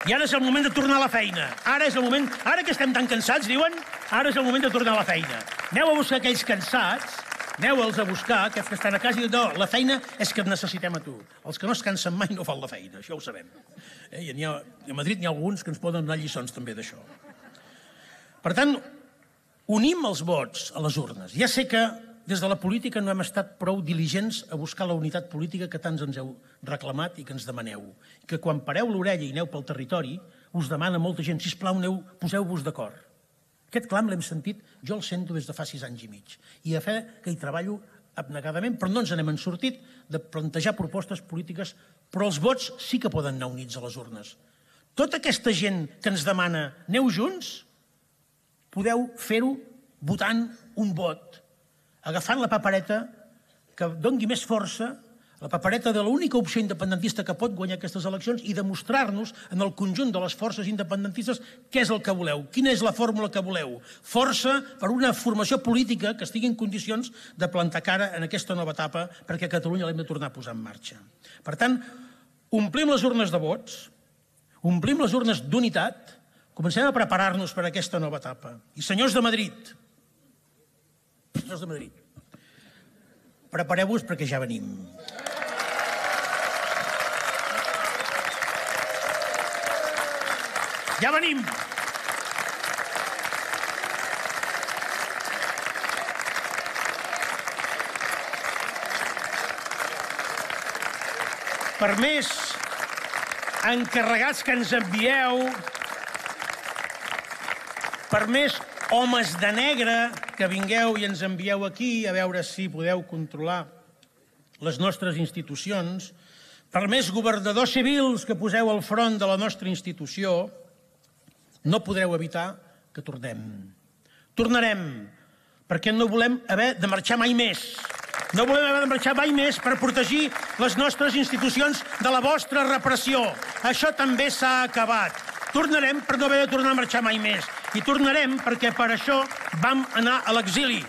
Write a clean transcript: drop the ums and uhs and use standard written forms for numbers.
I ara és el moment de tornar a la feina. Ara és el moment... Ara que estem tan cansats, diuen, ara és el moment de tornar a la feina. Aneu a buscar aquells cansats, aneu-los a buscar, aquests que estan a casa, i no, la feina és que et necessitem a tu. Els que no es cansen mai no fan la feina, això ho sabem. I a Madrid n'hi ha alguns que ens poden donar lliçons també d'això. Per tant, unim els vots a les urnes. Ja sé que des de la política no hem estat prou diligents a buscar la unitat política que tants ens heu reclamat i que ens demaneu. I que quan pareu l'orella i aneu pel territori, us demana molta gent, sisplau, poseu-vos d'acord. Aquest clam l'hem sentit, jo el sento des de fa 6 anys i mig. I a fe que hi treballo abnegadament, però no ens n'hem sortit de plantejar propostes polítiques, però els vots sí que poden anar units a les urnes. Tota aquesta gent que ens demana aneu junts, podeu fer-ho votant un vot, agafant la papereta que doni més força, la papereta de l'única opció independentista que pot guanyar aquestes eleccions i demostrar-nos en el conjunt de les forces independentistes què és el que voleu, quina és la fórmula que voleu. Força per una formació política que estigui en condicions de plantar cara en aquesta nova etapa perquè a Catalunya l'hem de tornar a posar en marxa. Per tant, omplim les urnes de vots, omplim les urnes d'unitat, comencem a preparar-nos per a aquesta nova etapa. I senyors de Madrid, prepareu-vos perquè ja venim. Ja venim! Per més encarregats que ens envieu, per més homes de negre que vingueu i ens envieu aquí a veure si podeu controlar les nostres institucions, per més governadors civils que poseu al front de la nostra institució, no podreu evitar que tornem. Tornarem, perquè no volem haver de marxar mai més. No volem haver de marxar mai més per protegir les nostres institucions de la vostra repressió. Això també s'ha acabat. Tornarem per no haver de tornar a marxar mai més. I tornarem perquè per això vam anar a l'exili.